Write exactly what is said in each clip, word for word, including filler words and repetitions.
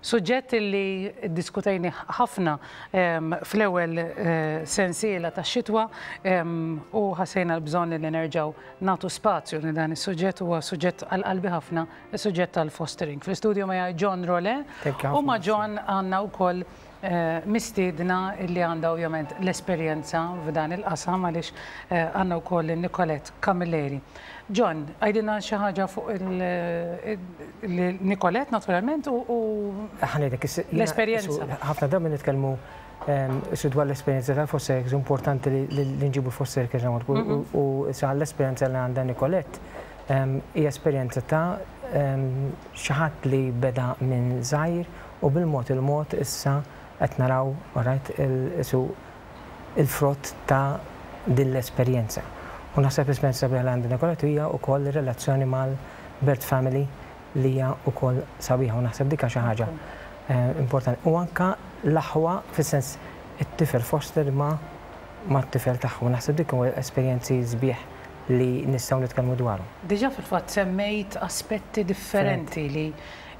Suġġett li diskutejna ħafna fl-ewwel eh, sensiela ta' xitwa u ħassejna l-bżonn li nerġgħu nagħtu spazju li dan is-suġġett huwa suġġett għal qalbi ħafna, is-suġġett tal-fostering. Fl-istudio ma' John Role u ma' John għandna wkoll eh, mistiedna li għandha ovvjament l-esperjenza f'dan il-qasam għaliex eh, għandna wkoll Nicolette Camilleri. John, għidilna xi ħaġa fuq il-Nicolette naturalment u l-esperjenza. Ħafna drabi nitkellmu su dwar l-esperjenza tal-foster importanti li nġibu foster care mhm. u sa l-esperjenza li għandha Nicolette hija esperjenza ta' xi ħadd li beda minn żgħir u bil-mod il-mod issa qed naraw right, il-frott ta' din l-esperjenza. U naħseb l-esperjenza sabiħa li għandha Nicolette hija wkoll relazzjoni mal-birth family li hija wkoll sabiħa u naħseb dika xi ħaġa eh, importanti. U anka l-aħwa fis-sens it-tifel foster ma ma t-tifel tagħhom. Naħseb dik huwa esperjenzi sbieħ li nistgħu nitkellmu dwaru. Diġà fil-fatt semmejt aspetti differenti li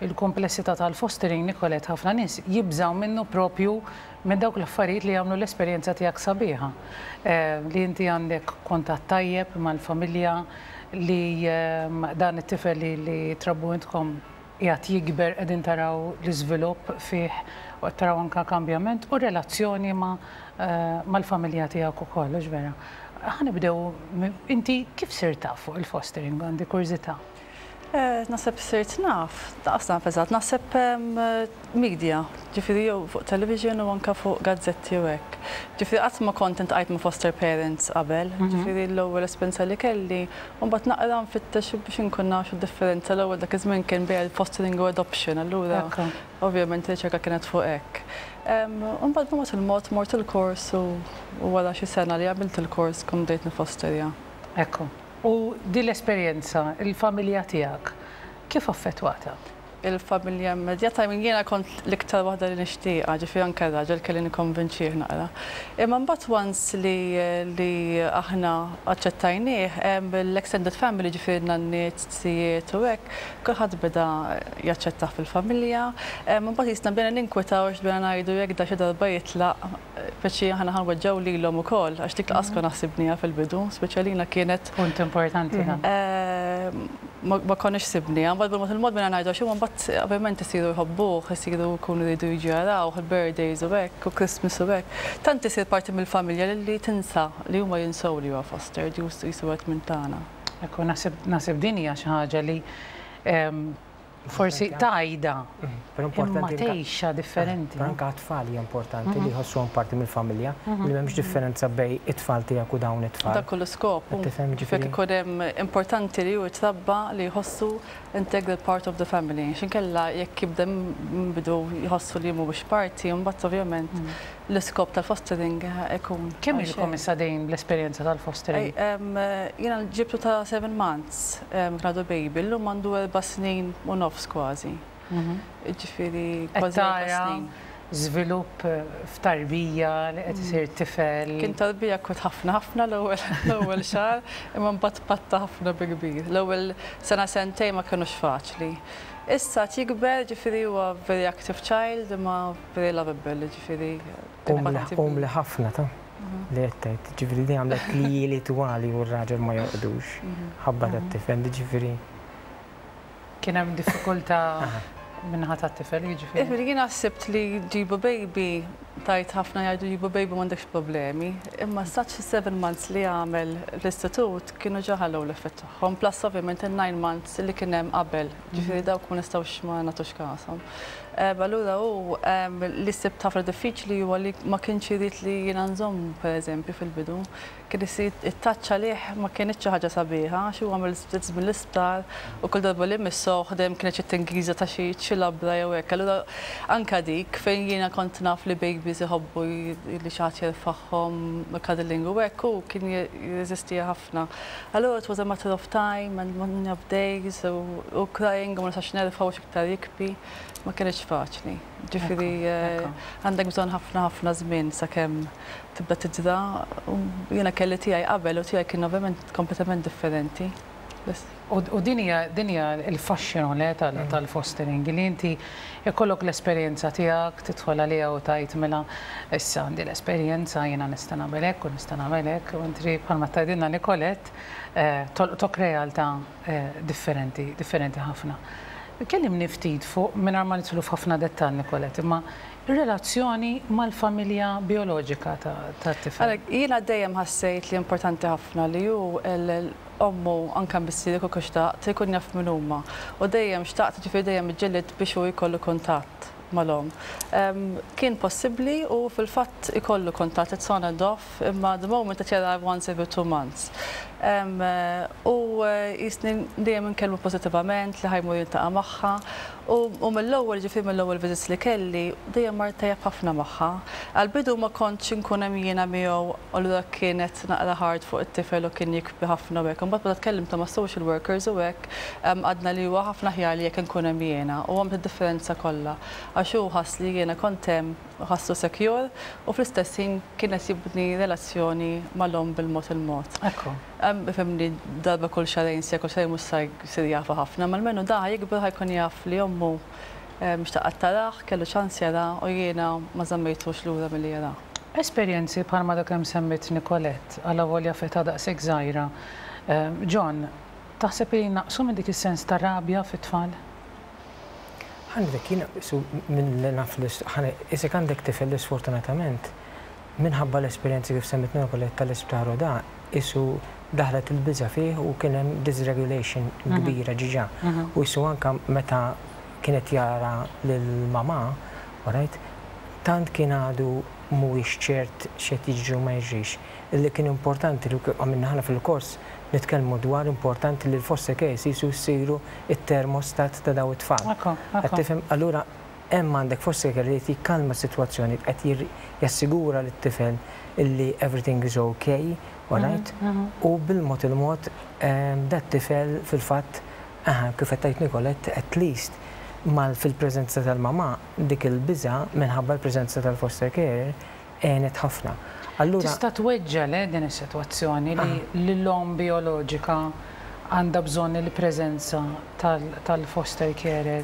il-komplessità tal-fostering, Nicolette, ħafna nies jibżaw minnu propju minn dawk l-affarijiet li jagħmlu l-esperjenza tiegħek sabiħa. Eh, li inti għandek kuntatt tajjeb mal-familja li ehm, dan it-tifel li, li trabbu intkom qiegħed jikber, qegħdin taraw l-iżvilupp fih u qed taraw anka kambjament u relazzjoni ma' eh, mal-familja tiegħek ukoll, hux vera? Ħa nibdew, inti kif sirt taf fuq il-fostering, għandi kurżità? Eh, naħseb sirt naf, daqs naf eżatt, naħseb media, ġifieri jew fuq television u anka fuq gazzetti u hekk. Ġifieri qatt ma kont iltqajt ma' foster parents qabel, mhm. ġifieri l-ewwel esperjenza li kelli, u mbagħad naqra nfittex biex inkun naf differenza. L-ewwel dak iż-żmien kien bejn fostering u adoption, allura ovvjament riċerka kienet fuq hekk. Mbagħad b'mod il-mod mort il-kors u wara xi sena li għamilt il-kors kont bdejt nifosterja. Ekku. U din l-esperjenza, il-familja tiegħek, kif affettwata? Il-familja immedjata, minn jiena kont l-iktar waħda li nixtieqha, ġifieri anke raġel kelli nikkonvinċih naqra. Imma mbagħad once li, li aħna aċċettajnieh, l-extended family, ġifieri nanniet, zijiet u hekk, kulħadd beda jaċċettah fil-familja. Mbagħad jisna bdejna ninkwetaw għax bdejna ngħidu jekk da xi darba jitlaq, speċi aħna ħa nweġġgħu lilhom ukoll, għax dik lanqas konna ħsibnieha fil-bidu, speċi kienet. Punt importanti. Ma konniex ħsibnieha, mbagħad bil-mod il-mod bdejna ngħidu għax mbagħad ovvjament isiru jħobbuh, isiru jkunu jridu jiġu jaraw, il-birthdays u hekk, u Christmas u hekk. Tant isir parti mill-familja li tinsa li huma jinsew li huwa foster, jisu għet minn tagħna. Ekku, naħseb din hija xi ħaġa li forsi tajda, imma tgħixha differenti. Però anke tfal hija importanti li jħossuhom parti mill-familja, li m'hemmx differenza bejn it-tfal tiegħek u dawn it-tfal. Dak kollu skop. Tifhem ġifieri. Ikun hemm importanti li hu jitrabba li jħossu integral part of the family. X'inkella jekk jibda bidu jħossu li mhuwiex parti, mbagħad ovvjament l-iskop tal-fostering ikun. Kemm ilkom issa dejn l-esperjenza tal-fostering? Jiena ġibtu ta' seven months, kien għadu baby, llum għandu erba' snin u nofs kważi. Ġifieri kważi erba' snin. Żvilupp f'tarbija li qed isir tifel. Kien tarbija kont ħafna ħafna l-ewwel xahar, imma mbagħad patta ħafna bi kbir. L-ewwel sena sentejn ma kinux faċli. Issa jikber, ġifieri huwa very active child, imma very lovable, ġifieri. Umli ħafna ta' li qed ġifieri di għamlet li li twali u r-raġel ma jorqdux. Ħabba tat-tifel, ġifieri. Kien hemm diffikultà min-naħa tat-tifel, jiġifieri. Ġifieri jiena ħsibt li ġibu baby, tajt ħafna jgħidu ġibu baby m'għandekx problemi, imma such seven months li għamel l-istitut kienu ġa ħallew l-effett tagħhom, plus ovvjament il-nine months li kien hemm qabel, ġifieri dawk ma nistgħux ma nagħtux kashom. Allura hu li sibt ħafna diffiċli huwa li ma kienx irid li jiena nżomm, pereżempju, fil-bidu. Kien isir it-touch għalih ma kienx xi ħaġa sabiħa, għax huwa għamel ftit żmien l-isptar u kull darba li missoh dejjem kienet xi tingiża ta' xi xi labra jew hekk. Allura anka dik fejn jiena kont naf li babies iħobbu li xi ħadd jerfagħhom, cuddling u hekk, u kien jirreżistiha ħafna. Allura it was a matter of time and one of days u crying u ma nistax nerfa' u iktar jibki, ma kienx faċli. Ġifieri għandek bżonn ħafna ħafna żmien sakemm tibda tidra. Jiena kelli tiegħi qabel u tiegħi kien ovvjament kompletament differenti. U din hija din hija il-fasċinu le tal-fostering li inti jkollok l-esperjenza tiegħek, tidħol għaliha u tgħid, "Mela issa għandi l-esperjenza, jiena nista' nagħmel hekk u nista' nagħmel hekk", u intri bħalma tgħidilna Nicolette eh, tolqtok realtà eh, differenti, differenti ħafna. Kellimni ftit fuq, mingħajr ma nidħlu f'ħafna dettall, Nicolette, imma relazzjoni mal-familja bioloġika ta' tifel. Jiena dejjem ħassejt li importanti ħafna li hu ommu anka missieri kieku xtaqt ikun jaf min huma. U dejjem xtaqt, ġifieri dejjem ġġilidt biex hu jkollu kuntatt mal-omm. Kien possibbli u fil-fatt ikollu kuntatt, it's on and off, imma the moment that jara once every two months. U jisni dejjem nkellmu pozitivament li ħa jmur jiltaqa' magħha. U mill-ewwel, ġifieri mill-ewwel visits li kelli, dejjem mar tajjeb ħafna magħha. Għal-bidu ma kontx inkun hemm jiena miegħu, u allura kienet naqra hard fuq it-tifel u kien jibki ħafna u hekk. Imbagħad meta tkellimt ma' social workers u hekk, għadna li huwa ħafna aħjar li jekk inkun hemm jiena u għamilt id-differenza kollha. Għax hu ħass li jiena kont hemm, ħassu secure u fl-istess ħin kienet jibni relazzjoni mal-omm bil-mod il-mod. Ekku. Ifhimni, darba kull xahrejn, se kull xahrejn mhux sa jsir jafu ħafna, ma almenu da jikber ħa jkun jaf li ommu xtaqat tarah, kellu ċans jara u jiena ma żammejtux lura milli jara. Esperjenzi bħalma dak hemm semmit Nicolette, għala volja f'età daqshekk żgħira. John, taħseb li naqsu minn dik is-sens ta' rabja fit-tfal? Għandek, jiena, su minn li naf li isek għandek tifel li sfortunatament minħabba l-esperjenzi kif semmit Nicolette tal-isptar u da, isu daħlet il-biża fih u kien hemm dysregulation kbira ġiġa. U jisu anka meta kienet jara lil-mama, alright, tant kien għadu mhuwiex ċert x'qed jiġri u ma jiġrix. Illi kien importanti li għamilna ħana fil-kors nitkellmu dwar importanti li l-foster care jisu jsiru it-termostat ta' daw it-tfal. Ekku, ekku. Qed tifhem, allura hemm għandek foster care li qed jikkalma s-sitwazzjoni, qed jir- jassigura lit-tifel illi everything is okay, alright? U bil-mod il-mod ehm, dat tifel fil-fatt, aha, kif qed tgħid Nicolette, at least mal fil-preżenza tal-mama dik il-biża minħabba l-preżenza tal-foster care għenet ħafna. Allura Tista' tweġġa le din is-sitwazzjoni li l-omm bioloġika għandha bżonn il-preżenza tal-foster carer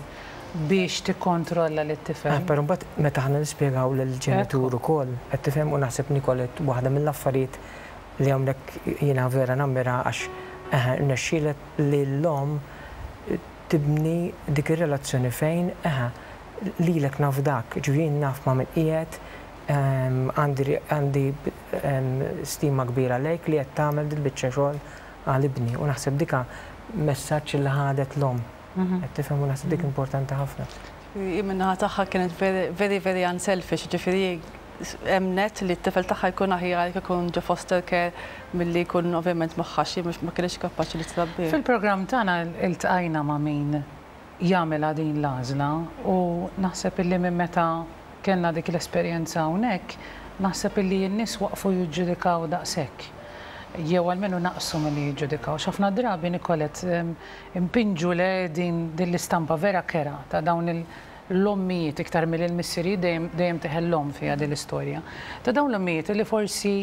biex tikkontrolla lit-tifel. Ah, però mbagħad meta ħana nispjegaw lill-ġenitur ukoll, qed tifhem, u naħseb Nicolette waħda mill-affarijiet li hawnhekk jiena vera nammira għax eh, rnexxielek li l-omm tibni dik ir-relazzjoni fejn eh, lilek nafdak, ġifieri naf ma' min qiegħed, ehm, għandi għandi ehm, stima kbira lejk li qed tagħmel dil-biċċa xogħol għal ibni u naħseb dika messaġġ li ħadet l-omm. Qed tifhem, u naħseb dik importanti ħafna. Min-naħa tagħha kienet very, very, very unselfish, ġifieri emnet li t-tifel tagħha jkun aħjar jekk ikun ġo foster care milli jkun ovvjament magħha, xi mhux ma kienx kapaċi li trabbi. Fil-programm tagħna iltqajna ma' min jagħmilha din l-għażla u naħseb illi minn meta kellna dik l-esperjenza hawnhekk, naħseb illi n-nies waqfu jiġġudikaw daqshekk. Jew almenu naqsu milli jiġġudikaw. X'ħafna drabi, Nicolette, em, impinġu le din din l-istampa vera kerha ta' dawn il- l-ommijiet iktar mill-missiri, dejjem dejjem teħellhom fiha din l-istorja. Ta' dawn l-ommijiet li forsi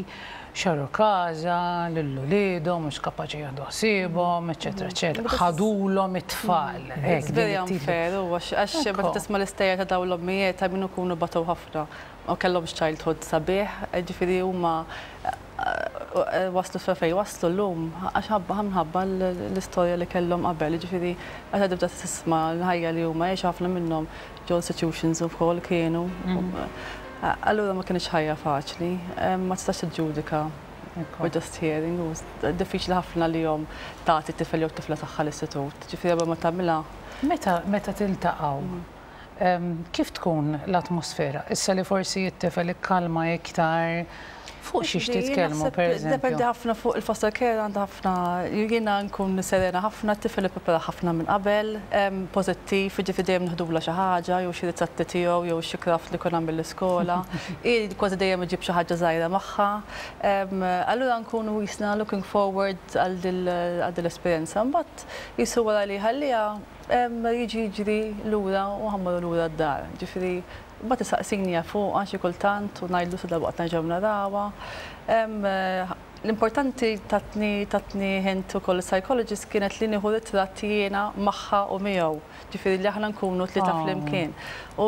xtraw każa, lil uliedhom, mhux kapaċi jieħdu ħsiebhom, eċetera, eċetera. Ħadulhom it-tfal. It's very unfair, u għax għax meta tisma' l-istejjer ta' dawn l-ommijiet ta' minnu kunu batow ħafna u kellhom childhood sabiħ, ġifieri huma eh, waslu sa fejn waslu llum għax ħabba minħabba l-istorja li kellhom qabel, ġifieri meta tibda tisma' l-ħajja li huma għexu, ħafna minnhom ġo institutions ukoll kienu. Allura ma kienx ħajja faċli, ma tistax tiġġudika. We're just hearing, u diffiċli ħafna li jom tagħti tifel jew tifla tagħha l-istitut. Ġifieri qabel ma tagħmilha. Meta meta tiltaqgħu, em, kif tkun l-atmosfera? Issa li forsi t-tifel ikkalma iktar, fuq xiex titkellmu, per Dependi eżempju? ħafna fuq il-foster care, għandha ħafna, jiena nkun serena ħafna, t-tifel ipprepara ħafna minn qabel, em, pożittiv, ġifieri dejjem neħdulha xi ħaġa, jew xi ritratti tiegħu, jew xi craft li kun għamel l-iskola. I kważi dejjem iġib xi ħaġa żgħira magħha. Em, Allura nkunu jisna looking forward għal dil l-esperjenza. Mbagħad jisu wara li ħallija em, jiġi jiġri lura u ħa mmorru lura d-dar. Ġifieri Mbagħad isaqsini fuq xi kultant u ngħidlu sa dalwaqt nerġgħu narawha. Em, eh, L-importanti tatni tatni hint ukoll psychologist kienet li nieħu ritratt jiena magħha u miegħu. Ġifieri li aħna nkunu tlieta Oh. flimkien. U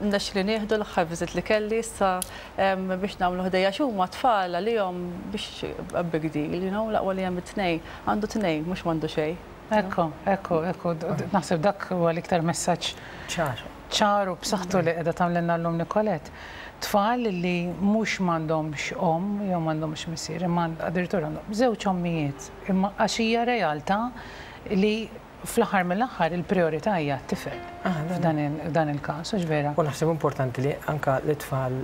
nexxieli nieħdu l-aħħar visit li kelli issa em, biex nagħmlu ħdejja x'huma tfal għalihom biex a big deal, you know, l-aqwa li hemm it-tnejn, għandu tnejn, mhux m'għandu xejn. Ekku, ekku, ekku, naħseb dak huwa l-iktar messaġġ ċar. ċar u b'saħħtu li qiegħda tagħmlilna llum Nicolette. Tfal li mhux m'għandhomx omm jew m'għandhomx missier, imma addirittura għandhom żewġ ommijiet, imma għax hija realtà li fl-aħħar mill-aħħar il-priorità hija t-tifel f'dan il- f'dan il-każ, hux vera? U naħseb importanti li anka l-tfal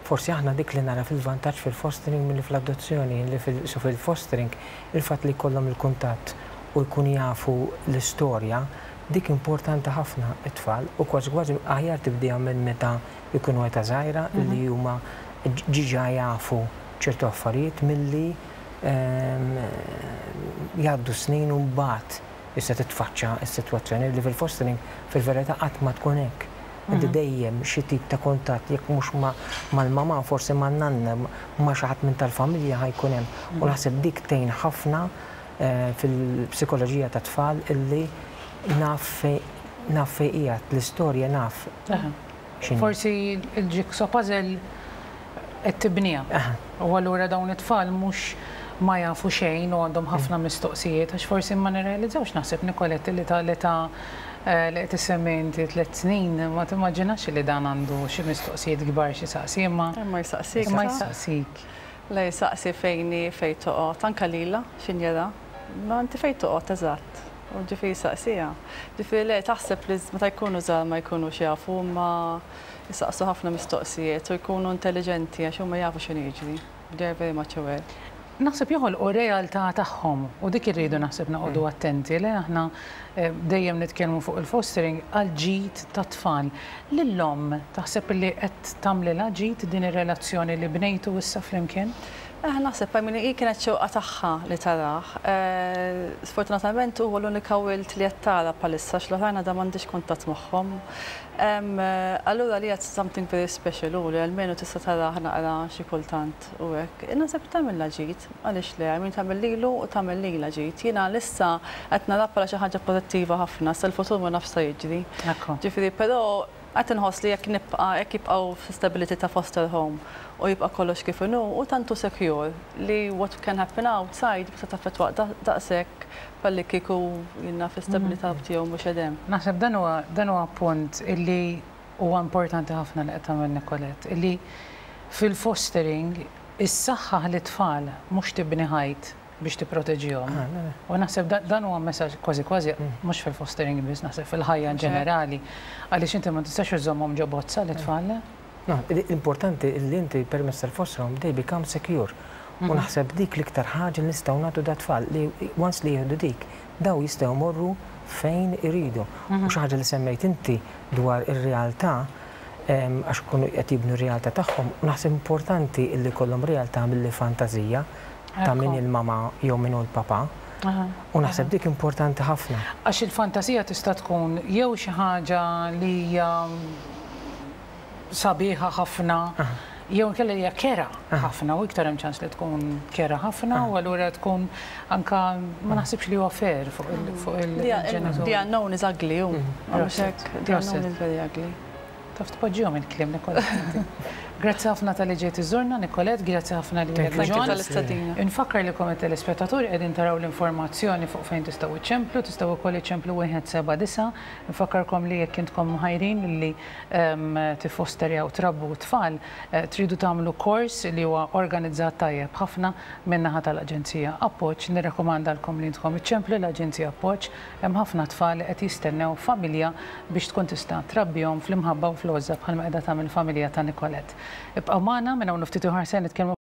forsi aħna dik li nara fil-vantaġġ fil-fostering milli fl-adozzjoni, li fil- so fil-fostering il-fatt li jkollhom il-kuntatt u jkun jafu l-istorja, dik importanti ħafna it-tfal u kważi kważi aħjar tibdija minn meta jkunu età żgħira li huma diġà jafu ċertu affarijiet milli ehm, jgħaddu snin u mbagħad issa titfaċċa s-sitwazzjoni li fil-fostering fil-verità qatt ma tkun hekk. Inti dejjem xi tip ta' kuntatt jekk mhux ma' mal-mama forsi ma' nanna ma' xi ħadd minn tal-familja ħa jkun hemm. U naħseb dik tgħin ħafna eh, fil-psikoloġija ta' tfal illi naf fej naf fej qiegħed l-istorja naf Aha. x'inhi. Forsi il-jigsaw puzzle qed tibniha. Aha. U allura dawn it-tfal mhux ma jafu xejn u għandhom ħafna mistoqsijiet għax forsi ma nirrealizzawx naħseb Nicolette li ta' l-età eh, li qed issemmi inti tliet snin ma timmaġinax li dan għandu xi mistoqsijiet kbar xi saqsi imma Imma jsaqsik. imma sa? jsaqsik. Le jsaqsi fejni fej toqgħod, anka lila x'injera. Ma inti fej toqgħod eżatt. U ġifieri saqsija. Ġifieri le taħseb li meta jkunu żgħar ma jkunux jafu ma jisaqsu ħafna mistoqsijiet u jkunu intelligenti għax huma jafu x'inhu jiġri. They are very much aware. Naħseb joħolqu realtà tagħhom u dik irridu naħseb noqogħdu attenti li aħna eh, dejjem nitkellmu fuq il-fostering għal ġid ta' tfal. Lil-omm taħseb li qed tagħmlilha ġid din ir-relazzjoni li bnejtu issa flimkien? Eh, naħseb, I mean, hi kienet xewqa tagħha li tarah. Eh, Sfortunatament huwa l-unika wild li qed tara bħalissa x'l-oħrajn għadha m'għandix kuntatt magħhom. Em, eh, Allura li qed something very special u li almenu tista' tarah naqra xi kultant u hekk. Naħseb tagħmilha ġid, għaliex le, I mean tagħmel lilu u tagħmel lilha ġid. Jiena issa qed nara bħala xi ħaġa pożittiva ħafna, sa l-futur ma nafx sa jiġri. Ekku. Ġifieri, però qed inħoss li jekk nibqa' jekk jibqgħu f'stability ta' foster home u jibqa' kollox kif inhu u tantu secure li what can happen outside ma taffettwa daqshekk palli kieku jiena fi stabilità tiegħu mhux edem. Naħseb dan huwa dan huwa punt illi huwa importanti ħafna li qed tagħmel Nicolette, illi fil-fostering is-saħħa lit-tfal mhux tibni ħajt biex tipproteġihom. Ah, le, le. U naħseb da- dan huwa messaġġ kważi kważi mhux fil-fostering biss, naħseb fil-ħajja in ġenerali, għaliex inti ma tistax iżommhom ġo bozza l-tfal. No, l-importanti li inti permezz tal-foster home they become secure. U naħseb dik l-iktar ħaġa li nistgħu nagħtu dat-tfal li once li jieħdu dik, daw jistgħu morru fejn iridu. U xi ħaġa li semmejt inti dwar ir-realtà em, għax ikunu qed jibnu r-realtà tagħhom, u naħseb importanti li kollhom realtà milli fantażija ta' min Ekku. il-mama jew min hu l-papa. Aha. U naħseb dik importanti ħafna. Għax il-fantasija tista' tkun jew xi ħaġa li hija sabiħa ħafna, jew inkella hija kerha ħafna u iktar hemm ċans li tkun kerha ħafna u allura tkun anka ma naħsibx li huwa fair fuq il- fuq il-ġenitur. The unknown is ugly, u. Mhux hekk, the Proset. unknown is very ugly. Taf tpoġġihom il-kliem Nicolette. Grazzi ħafna talli ġejt iżżurna, Nicolette, grazzi ħafna li Thank you. Thank you John. tal-istedina. Infakkar li kom telespettaturi qegħdin taraw l-informazzjoni fuq fejn tistgħu iċċemplu, tistgħu wkoll iċċemplu wieħed seba' disa'. Infakkarkom li jekk intkom mħajrin li em, tifosterjaw trabbu tfal, eh, tridu tagħmlu kors li huwa organizzat tajjeb ħafna min-naħa tal-Aġenzija Appoġġ. Nirrakkomandalkom li intkom iċċemplu l-Aġenzija Appoġġ. Hemm ħafna tfal li qed jistennew familja biex tkun tista' trabbihom fl-imħabba u fl-għożża bħalma qiegħda tagħmel familja ta' Nicolette. Ibqgħu magħna minn hawn ftit ieħor se nitkellmu